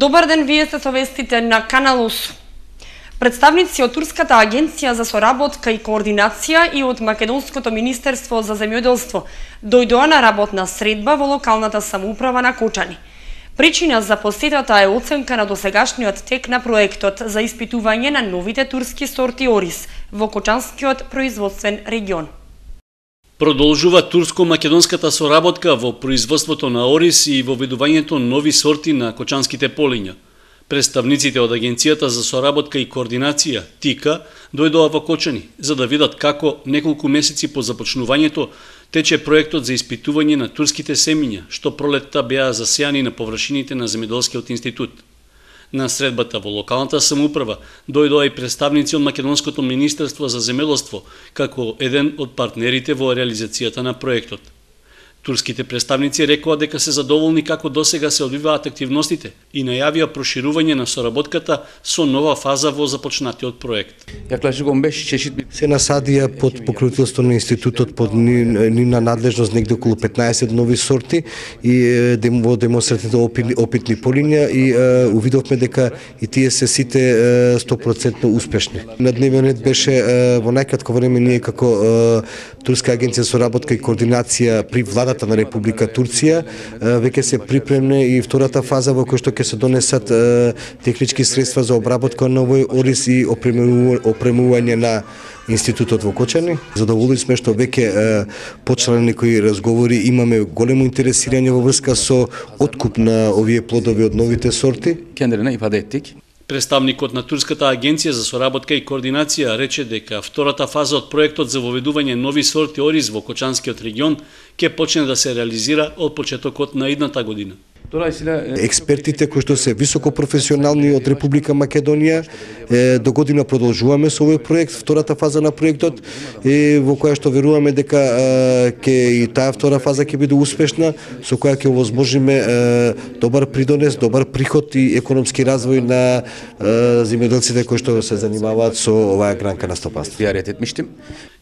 Добар ден, вие сте со вестите на Канал УС. Представници од Турската агенција за соработка и координација и од Македонското министерство за земјоделство дојдоа на работна средба во локалната самоуправа на Кочани. Причина за посетата е оценка на досегашниот тек на проектот за испитување на новите турски сорти ориз во Кочанскиот производствен регион. Продолжува турско-македонската соработка во производството на ориз и во ведувањето нови сорти на кочанските полиња. Представниците од Агенцијата за соработка и координација, ТИКА, дојдоа во Кочани, за да видат како неколку месеци по започнувањето тече проектот за испитување на турските семиња, што пролетта беа засејани на површините на Земјоделскиот институт. На средбата во локалната самоуправа дојдоа и представници од Македонското министерство за земјоделство, како еден од партнерите во реализацијата на проектот. Турските представници рекоа дека се задоволни како досега се одвиваат активностите и најавија проширување на соработката со нова фаза во започнатиот проект. Се насадија под покровителство на институтот под нивна надлежност негде околу 15 нови сорти и во демонстративните опитни полиња и увидовме дека и тие се сите 100% успешни. На дневен ред беше во најкратко време ние како Турска агенција за соработка и координација при владата на Република Турција веќе се припремне и втората фаза во која што ќе се донесат технички средства за обработка на овој ориз и опремување на институтот во Кочани. Задоволни сме што веќе почнале некои разговори, имаме големо интересирање во врска со откуп на овие плодови од новите сорти. Представникот на Турската агенција за соработка и координација рече дека втората фаза од проектот за воведување нови сорти ориз во Кочанскиот регион ќе почне да се реализира од почетокот на идната година. Експертите кои што се високо професионални од Република Македонија до година продолжуваме со овој проект, втората фаза на проектот во која што веруваме дека ќе и таа втора фаза ќе биде успешна, со која ќе овозможиме добар придонес, добар приход и економски развој на земјоделците кои што се занимаваат со оваа гранка на стопанство.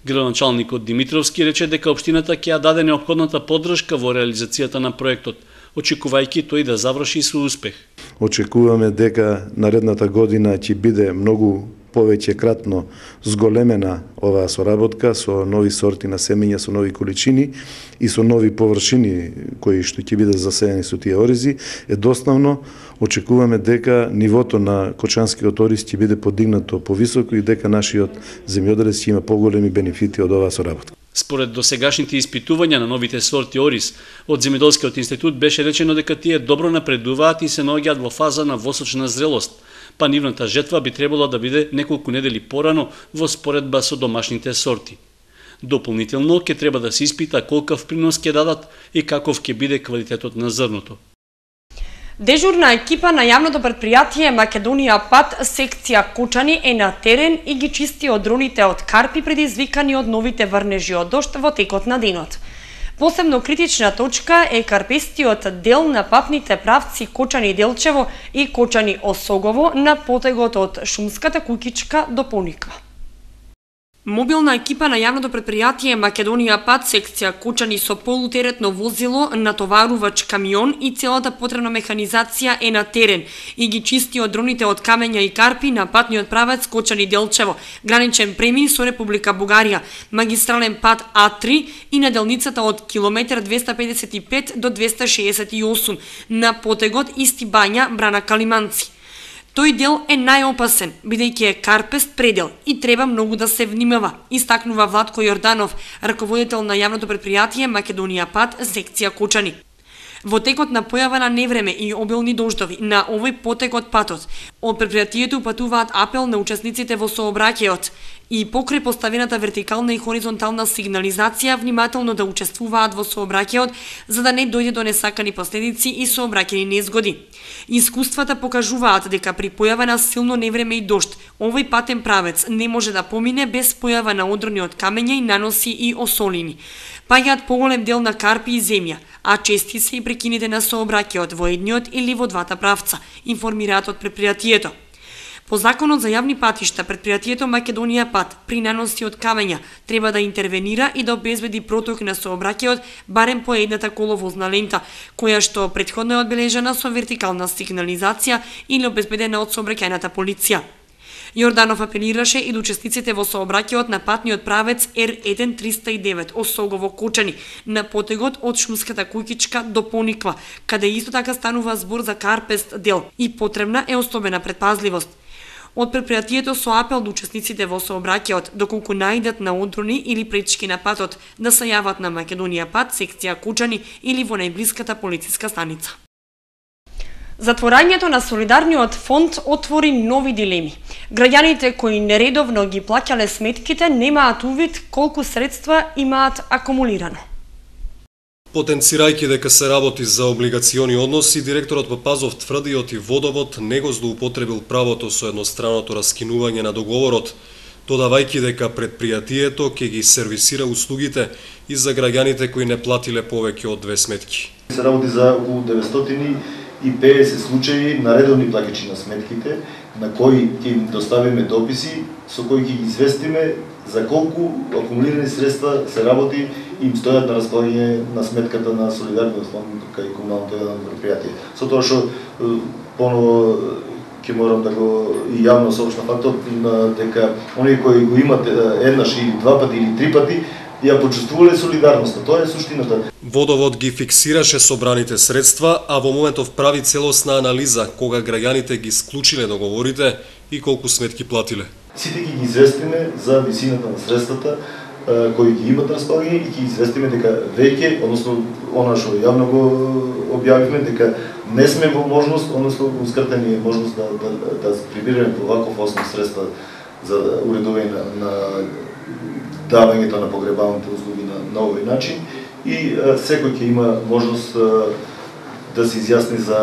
Градоначалникот Димитровски рече дека општината ќе ја даде неопходната поддршка во реализацијата на проектот, очекувајќи тој да заврши со успех. Очекуваме дека наредната година ќе биде многу повеќе кратно зголемена оваа соработка со нови сорти на семења, со нови количини и со нови површини кои што ќе бидат засејани со тие оризи. Едноставно очекуваме дека нивото на кочанскиот ориз ќе биде подигнато повисоко и дека нашиот земјоделец ќе има поголеми бенефити од оваа соработка. Според досегашните испитувања на новите сорти ориз од Земјоделскиот институт беше речено дека тие добро напредуваат и се наоѓаат во фаза на восочна зрелост, па нивната жетва би требало да биде неколку недели порано во споредба со домашните сорти. Дополнително ќе треба да се испита колкав принос ќе дадат и каков ќе биде квалитетот на зрното. Дежурна екипа на јавното претпријатие Македонија Пат секција Кочани е на терен и ги чисти одроните од карпи предизвикани од новите врнежи од дожд во текот на денот. Посебно критична точка е карпестиот дел на патните правци Кочани-Делчево и Кочани-Осогово на потегот од Шумската куќичка до Поника. Мобилна екипа на јавното претпријатие Македонија Пат секција Кочани со полутеретно возило, натоварувач камион и целата потребна механизација е на терен и ги чисти одроните од камења и карпи на патниот правец Кочани-Делчево, граничен премин со Република Бугарија, магистрален пат А3 и на делницата од километар 255 до 268 на потегот Исти Бања, Брана Калиманци. Тој дел е најопасен, бидејќи е карпест предел и треба многу да се внимава, истакнува Владко Јорданов, раководител на јавното претпријатие Македонија Пат секција Кочани. Во текот на појава на невреме и обилни дождови на овој потек од патот, од претпријатието упатуваат апел на учесниците во сообраќајот и покрај поставената вертикална и хоризонтална сигнализација внимателно да учествуваат во сообраќајот за да не дојде до несакани последици и сообраќајни незгоди. Искуствата покажуваат дека при појава на силно невреме и дожд, овој патен правец не може да помине без појава на одрони од камења и наноси и осолини. Паѓаат поголем дел на карпи и земја, а чести се и прекините на сообраќајот во едниот или во двата правца, информираат од претпријатието. По законот за јавни патишта, претпријатието Македонија пат при наноси од камења треба да интервенира и да обезбеди проток на сообраќајот барем по едната коловозна лента, која што претходно е одбележана со вертикална сигнализација или обезбедена од сообраќајната полиција. Јорданов апелираше и до учесниците во сообраќајот на патниот правец R1309 Осогово-Кочани на потегот од Шумската куќичка до Пониква, каде исто така станува збор за карпест дел и потребна е особена предпазливост. Од претпријатието со апел до учесниците во сообраќајот, доколку најдат на одрони или пречки на патот, да се јават на Македонија пат, секција Кучани или во најблиската полициска станица. Затворањето на Солидарниот фонд отвори нови дилеми. Граѓаните кои нередовно ги плаќале сметките немаат увид колку средства имаат акумулирано. Потенцирајќи дека се работи за облигациони односи, директорот Папазов тврди оти Водовод не го злоупотребил правото со едностранното раскинување на договорот, додавајќи дека предпријатието ќе ги сервисира услугите и за граѓаните кои не платиле повеќе од 2 сметки. Се работи за околу 950 случаи на редовни плаќачи на сметките, на кои ќе им доставиме дописи со кои ќе ги известиме за колку акумулирани средства се работи и им стојат на располагање на сметката на Солидарниот фонд кај комуналното предпријатие. Со тоа што поново ќе морам да го и јавно соопштам фактот дека оние кои го имат еднаш или 2 пати или 3 пати ја почувствувале солидарноста. Тоа е суштината. Водовод ги фиксираше собраните средства, а во моментов прави целосна анализа кога граѓаните ги склучиле договорите и колку сметки платиле. Сите ги известиме за висината на средствата кои ги имат на располагање и ги известиме дека веќе, односно она што јавно го објавивме, дека не сме во можност, односно ускратена е можност да прибираме по ваков основ средства за уредување на давањето на погребалните услуги на овој начин и секој ќе има можност да се изјасни за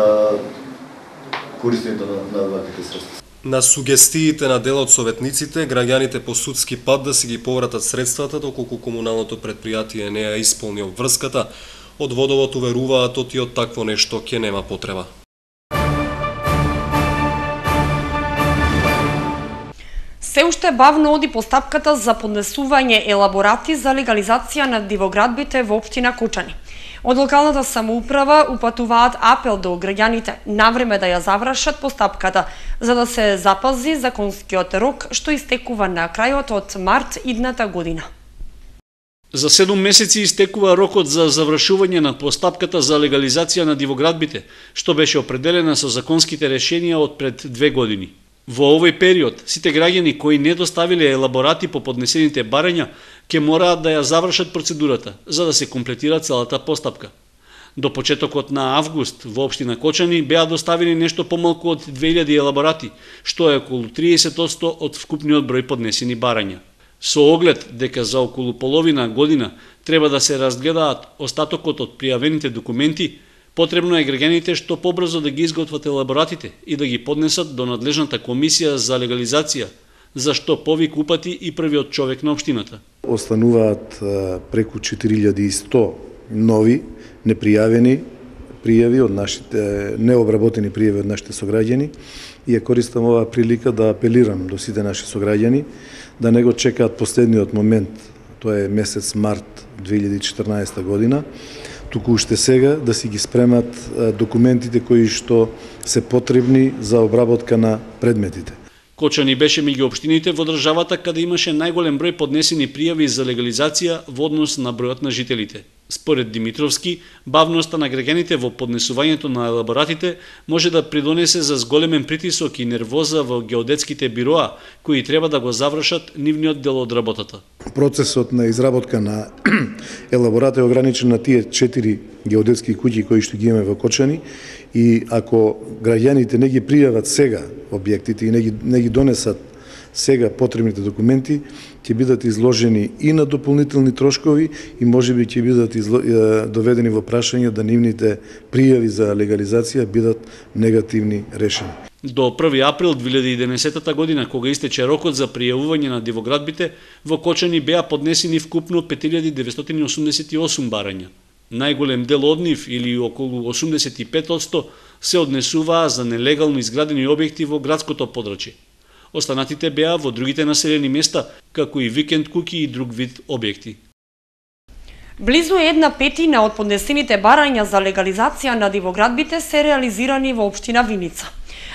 користењето на ваквите средства. На сугестиите на дел од советниците, граѓаните по судски пат да си ги повратат средствата доколку комуналното предпријатие не ја исполни обврската, од Водовод уверуваат оти од такво нешто ќе нема потреба. Се уште бавно оди постапката за поднесување елаборати за легализација на дивоградбите во општина Кучани. Од локалната самоуправа упатуваат апел до граѓаните навреме да ја завршат постапката, за да се запази законскиот рок што истекува на крајот од март идната година. За 7 месеци истекува рокот за завршување на постапката за легализација на дивоградбите, што беше определена со законските решенија од пред 2 години. Во овој период, сите граѓани кои не доставиле елаборати по поднесените барања, ќе мораат да ја завршат процедурата, за да се комплетира целата постапка. До почетокот на август во општина Кочани беа доставени нешто помалку од 2000 елаборати, што е околу 30% од вкупниот број поднесени барања. Со оглед дека за околу половина година треба да се разгледаат остатокот од пријавените документи, потребно е граѓаните што побрзо да ги изготват елаборатите и да ги поднесат до надлежната комисија за легализација, за што повик упати и првиот човек на општината. Остануваат преку 4100 нови непријавени пријави од нашите необработени пријави од нашите сограѓани и ја користам оваа прилика да апелирам до сите наши сограѓани да не го чекаат последниот момент, тоа е месец март 2014 година, туку уште сега да си ги спремат документите кои што се потребни за обработка на предметите. Кочани беше меѓу општините во државата каде имаше најголем број поднесени пријави за легализација во однос на бројот на жителите. Според Димитровски, бавноста на граѓаните во поднесувањето на елаборатите може да придонесе за зголемен притисок и нервоза во геодетските бироа, кои треба да го завршат нивниот дел од работата. Процесот на изработка на елаборат е ограничен на тие 4 геодетски куќи кои што ги имаме во Кочани и ако граѓаните не ги пријават сега објектите и не ги донесат сега потребните документи, ќе бидат изложени и на дополнителни трошкови и можеби ќе бидат доведени во прашање да нивните пријави за легализација бидат негативни решени. До 1 април 2011 година, кога истече рокот за пријавување на дивоградбите, во Кочани беа поднесени вкупно 5988 барања. Најголем дел од нив, или околу 85%, се однесуваа за нелегално изградени објекти во градското подрачје. Останатите беа во другите населени места, како и викенд куќи и друг вид објекти. Близу 1/5 од поднесените барања за легализација на дивоградбите се реализирани во општина Виница.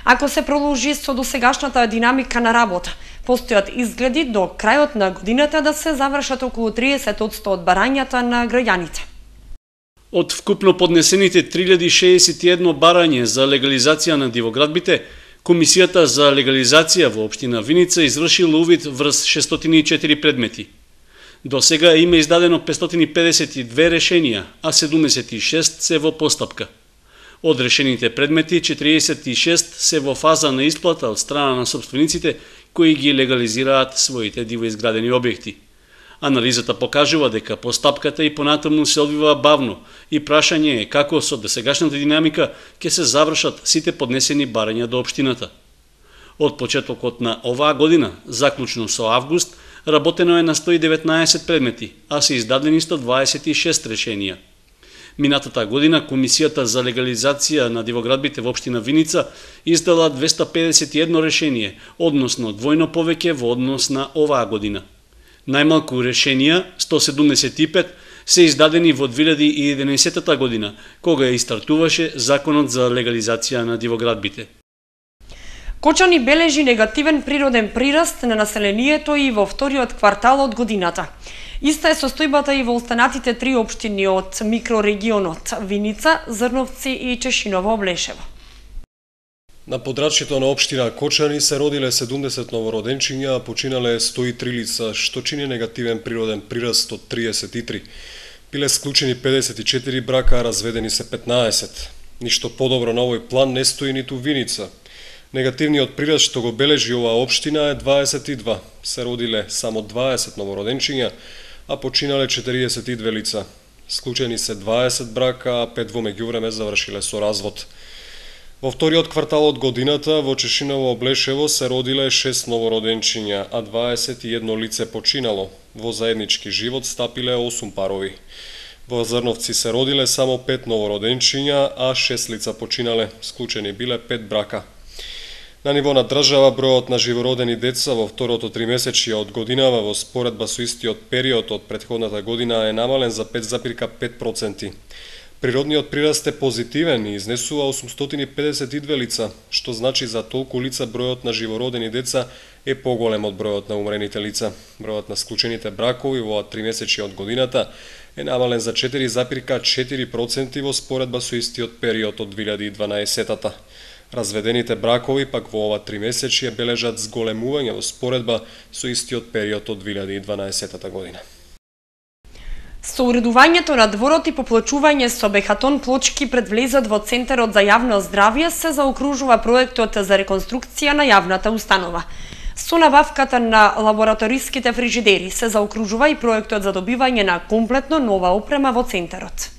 Ако се продолжи со досегашната динамика на работа, постојат изгледи до крајот на годината да се завршат околу 30% од барањата на граѓаните. Од вкупно поднесените 3061 барање за легализација на дивоградбите, Комисијата за легализација во општина Виница извршила увид врз 604 предмети. До сега има издадено 552 решенија, а 76 се во постапка. Од решените предмети, 46 се во фаза на исплата од страна на собствениците кои ги легализираат своите дивоизградени објекти. Анализата покажува дека постапката и понатаму се одвива бавно и прашање е како со досегашната динамика ќе се завршат сите поднесени барања до општината. Од почетокот на оваа година, заклучно со август, работено е на 119 предмети, а се издадени 126 решенија. Минатата година Комисијата за легализација на дивоградбите во општина Виница издала 251 решение, односно двојно повеќе во однос на оваа година. Најмалку решенија, 175, се издадени во 2011 година, кога и стартуваше Законот за легализација на дивоградбите. Кочани бележи негативен природен прираст на населението и во вториот квартал од годината. Иста е состојбата и во останатите 3 општини од микрорегионот Виница, Зрновци и Чешиново Облешево. На подрачјето на општина Кочани се родиле 70 новороденчиња, а починале 103 лица, што чини негативен природен прираст од 33. Биле склучени 54 брака, а разведени се 15. Ништо подобро на овој план не стои ниту Виница. Негативниот прираст што го бележи оваа општина е 22. Се родиле само 20 новороденчиња, а починале 42 лица. Склучени се 20 брака, а 5 во меѓувреме завршиле со развод. Во вториот квартал од годината во Чешиново Облешево се родиле 6 новороденчиња, а 21 лице починало. Во заеднички живот стапиле 8 парови. Во Зрновци се родиле само 5 новороденчиња, а 6 лица починале. Склучени биле 5 брака. На ниво на држава, бројот на живородени деца во второто тримесечје од годинава во споредба со истиот период од претходната година е намален за 5,5%. Природниот прираст е позитивен и изнесува 852 лица, што значи за толку лица бројот на живородени деца е поголем од бројот на умрените лица. Бројот на склучените бракови во тримесечје од годината е намален за 4,4% во споредба со истиот период од 2012-та. Разведените бракови пак во ова тримесечје бележат зголемување во споредба со истиот период од 2012 година. Со уредувањето на дворот и поплочување со бехатон плочки пред влезот во Центарот за јавно здравје се заокружува проектот за реконструкција на јавната установа. Со набавката на лабораториските фрижидери се заокружува и проектот за добивање на комплетно нова опрема во Центарот.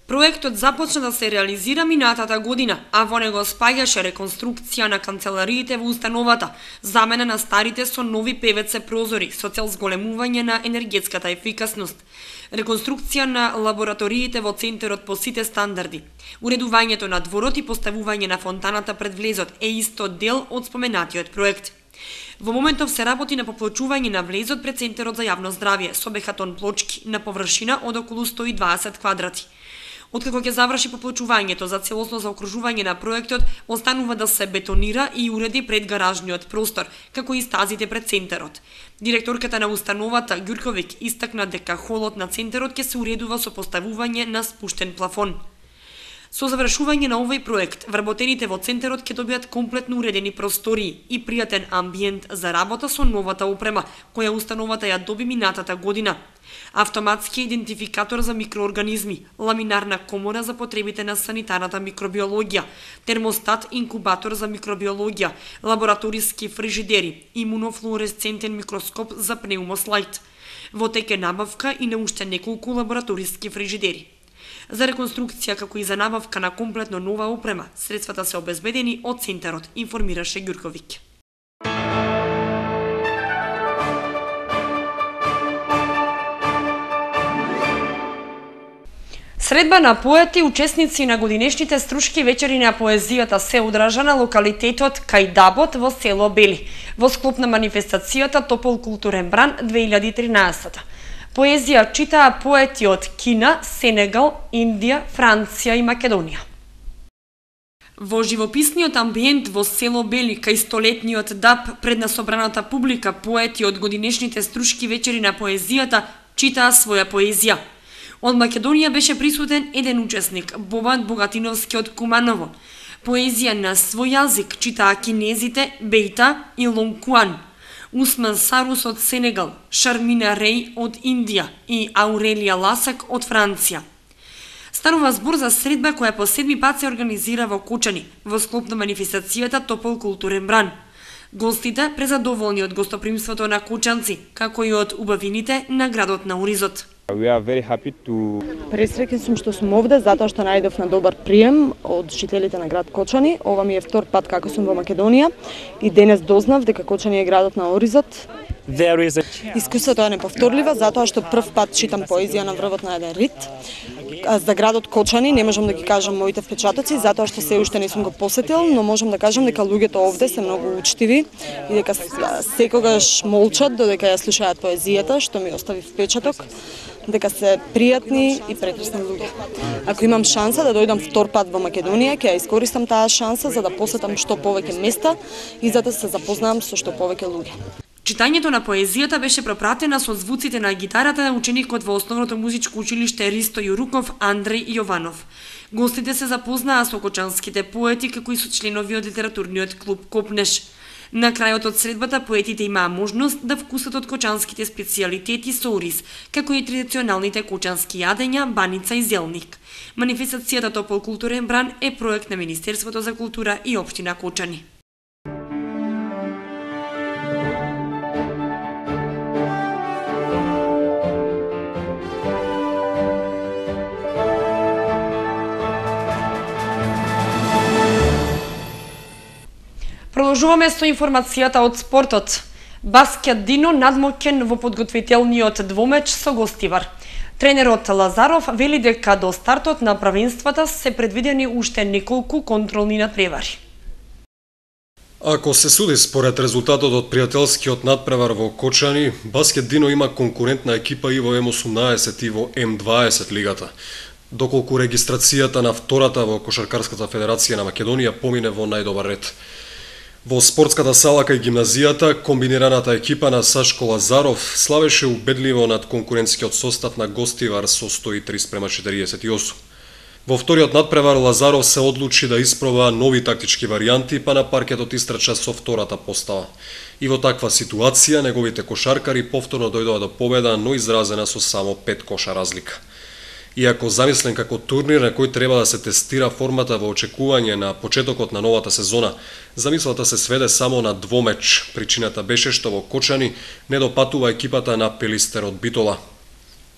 Проектот започна да се реализира минатата година, а во него спаѓаше реконструкција на канцелариите во установата, замена на старите со нови ПВЦ прозори со цел зголемување на енергетската ефикасност, реконструкција на лабораториите во Центарот по сите стандарди. Уредувањето на дворот и поставување на фонтаната пред влезот е исто дел од споменатиот проект. Во моментов се работи на поплочување на влезот пред Центарот за јавно здравје со бехатон плочки на површина од околу 120 квадрати. Откако ќе заврши поплочувањето за целосно заокружување на проектот, останува да се бетонира и уреди предгаражниот простор, како и стазите пред Центарот. Директорката на установата Ѓурковиќ истакна дека холот на Центарот ќе се уредува со поставување на спуштен плафон. Со завршување на овој проект, вработените во Центарот ќе добијат комплетно уредени простории и пријатен амбиент за работа со новата опрема, која установата ја доби минатата година. Автоматски идентификатор за микроорганизми, ламинарна комора за потребите на санитарната микробиологија, термостат инкубатор за микробиологија, лабораториски фрижидери, имунофлуоресцентен микроскоп за пнеумослайд. Во тек е набавка и на уште неколку лабораториски фрижидери. За реконструкција како и за набавка на комплетно нова опрема, средствата се обезбедени од Центарот, информираше Ѓурковиќ. Средба на поети, учесници на годинешните струшки вечери на поезијата се одржа на локалитетот Кајдабот во село Бели, во склоп на манифестацијата Топол културен бран 2013. Поезија читаа поети од Кина, Сенегал, Индија, Франција и Македонија. Во живописниот амбиент во село Бели, кај столетниот даб пред на собраната публика, поети од годинешните струшки вечери на поезијата читаа своја поезија. Од Македонија беше присутен еден учесник, Бобан Богатиновски од Куманово. Поезија на свој јазик читаа кинезите Бейта и Лонкуан, Усман Сарус од Сенегал, Шармина Рей од Индија и Аурелија Ласак од Франција. Станува збор за средба која по 7 пат се организира во Кочани, во склоп на манифестацијата Топол културен бран. Гостите презадоволни од гостопримството на кочанци, како и од убавините на градот на Оризот. Пресреќен сум што сум овде затоа што најдов на добар прием од жителите на град Кочани. Ова ми е втор пат како сум во Македонија и денес дознав дека Кочани е градот на Оризот. Искуството е неповторливо затоа што прв пат читам поезија на врвот на еден рит. За градот Кочани не можам да ги кажам моите впечатоци затоа што се уште не сум го посетил, но можам да кажам дека луѓето овде се многу учтиви и дека секогаш молчат додека ја слушаат поезијата, што ми остави впечаток дека се пријатни и прекрасни луѓе. Ако имам шанса да дојдам втор пат во Македонија, ќе ја искористам таа шанса за да посетам што повеќе места и за да се запознам со што повеќе луѓе. Читањето на поезијата беше пропратена со звуците на гитарата на ученикот во Основното музичко училиште Ристо Јуруков Андреј Јованов. Гостите се запознаа со кочанските поети како и со членови од литературниот клуб Копнеш. На крајот од средбата поетите имаа можност да вкусат од кочанските специјалитети со ориз, како и традиционалните кочански јадења, баница и зелник. Манифестацијата Топол културен бран е проект на Министерството за култура и општина Кочани. Продолжуваме со информацијата од спортот. Баскет Дино надмоќен во подготвителниот двомеч со Гостивар. Тренерот Лазаров вели дека до стартот на правенствата се предвидени уште неколку контролни надпревари. Ако се суди според резултатот од пријателскиот надпревар во Кочани, Баскет Дино има конкурентна екипа и во М18 и во М20 лигата. Доколку регистрацијата на втората во Кошаркарската федерација на Македонија помине во најдобар ред. Во спортската сала кај гимназијата, комбинираната екипа на Сашко Лазаров славеше убедливо над конкурентскиот состав на Гостивар со 103:48. Во вториот надпревар Лазаров се одлучи да испроба нови тактички варијанти, па на паркетот истрча со втората постава. И во таква ситуација неговите кошаркари повторно дојдоа до победа, но изразена со само 5 коша разлика. Иако замислен како турнир на кој треба да се тестира формата во очекување на почетокот на новата сезона, замислата се сведе само на двомеч. Причината беше што во Кочани не допатува екипата на Пелистер од Битола.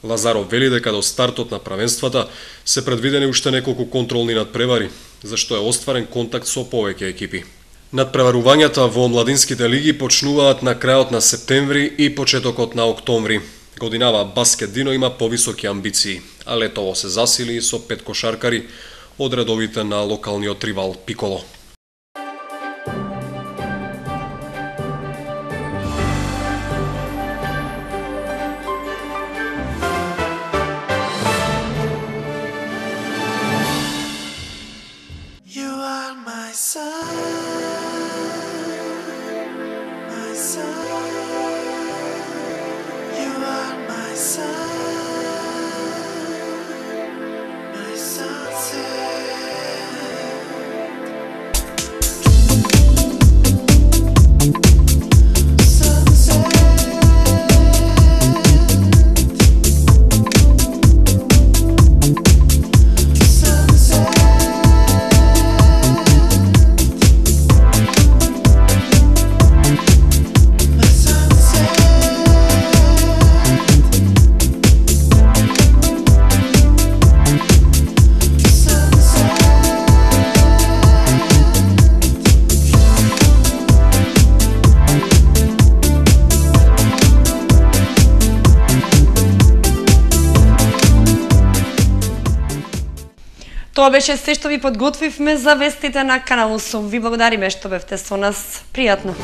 Лазаров вели дека до стартот на правенствата се предвидени уште неколку контролни надпревари, зашто е остварен контакт со повеќе екипи. Надпреварувањата во младинските лиги почнуваат на крајот на септември и почетокот на октомври. Годинава Баскет Дино има повисоки амбиции, а летово се засили со 5 кошаркари од редовите на локалниот ривал Пиколо. Тоа беше се што ви подготвивме за вестите на Канал 8. Ви благодариме што бевте со нас. Пријатно.